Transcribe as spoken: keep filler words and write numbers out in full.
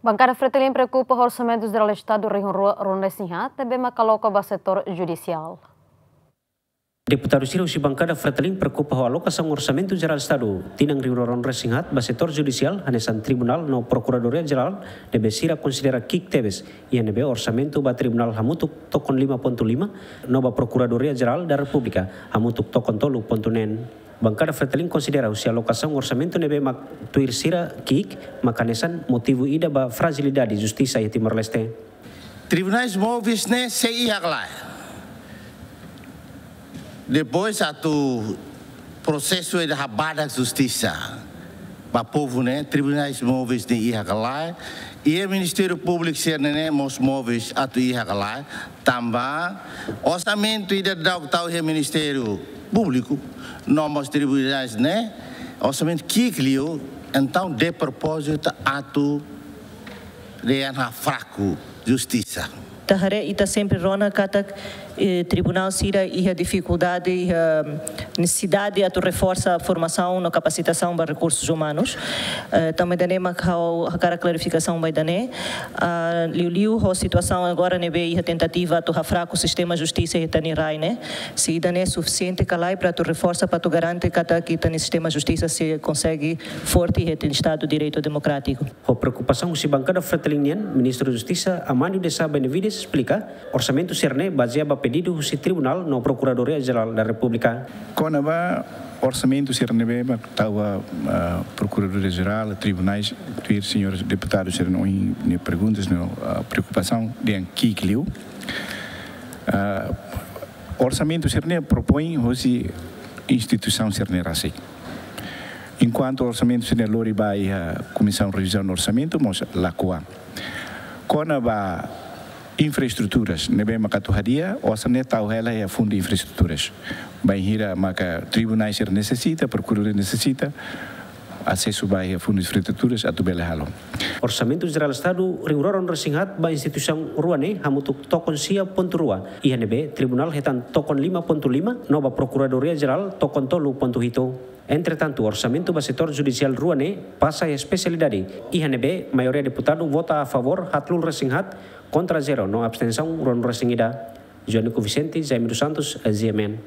Bankada Fretilin preokupa ho Orsamentu Jerál Estadu rihun rua ruanulu-resin-haat ne'ebé mak aloka ba setór judisiál. Deputadu sira husi bankada Fretilin preokupa ho alokasaun Orsamentu Jerál Estadu tinan rihun rua ruanulu-resin-haat ba setór judisiál, hanesan tribunál no prokuradoria jerál, ne'ebé sira konsidera ki'ik tebes, iha ne'ebé orsamentu ba tribunál hamutuk tokon lima pontu lima, no ba Prokuradoria Jerál da Repúblika hamutuk tokon tolu pontu neen. Bankada Fretilin konsidera husi alokasaun orsamentu ne'ebé mak tuir sira ki'ik, mak hanesan motivu ida ba frajilidade justisa iha Timor-Leste. Tribunais móveis ne'e sei iha ka lae. Depois atu prosesu ida habadak justisa ba povu ne'e, tribunais móveis ne'e iha ka lae. I Ministériu Públiku sira-ne'e mós móveis atu iha ka lae. Tanba orsamentu ida daudaun tau iha Ministériu Públiku no mós tribunais ne'e, orsamentu ki'ik liu, entaun despropózitu atu dehan fraku justisa. Ita haree, ita sempre rona katak, eh, tribunál sira iha difikuldade, iha nesesidade atu reforsa formasaun no kapasitasaun ba rekursus umanus. Eh, tanba ida-ne'e mak ha'u hakarak klarifikasaun ba ida-ne'e. Ah, liuliu ho situasaun agora ne'ebé iha tentativa atu hafraku sistema justisa iha ita-nia rai ne'e, se ida-ne'e sufisiente ka lae para atu reforsa, para atu garante katak ita-nia sistema justisa sei konsege forte iha ita-nia Estadu Direitu Demokrátiku. Ho preokupasaun husi bankada Fretilin nian, Ministru Justisa Amândio de Sá Benavides esplika, orsamentu sira-ne'e bazeia ba pedidu husi Tribunál no Prokuradoria Jerál da Repúblika. Kona-ba orsamentu sira ne'ebé mak tau ba, ah, Prokuradoria Jerál, tribunais, tuir señór deputadu sira-nia perguntas no, ah, preokupasaun dehan ki'ik liu. Ah, orsamentu sira-ne'e propoin husi instituisaun sira-ne'e rasik. Enkuantu orsamentu sira-ne'e lori ba iha Komisaun Revizaun Orsamentu, mós lakohi. Kona-ba infraestruturas ne'ebé maka atu hadi'a, osan ne'e tau hela iha fundu infraestruturas. Bainhira maka tribunais sira nesesita, prokuradoria nesesita, asesu ba iha fundu infraestruturas atu bele halo. Orsamentu Jerál Estadu rihun rua ruanulu-resin-haat ba instituisaun rua ne'e hamutuk tokon sia pontu rua, iha ne'ebé tribunál hetan tokon lima pontu lima, no ba Prokuradoria Jerál tokon tolu pontu hitu. Entretantu, orsamentu ba setór judisiál rua ne'e pasa iha espesialidade, iha ne'ebé maioria deputadu vota a favór haatnulu-resin-haat, kontra zero no abstensaun ruanulu-resin-ida. Joanico Vicente, Jaime dos Santos, G M N.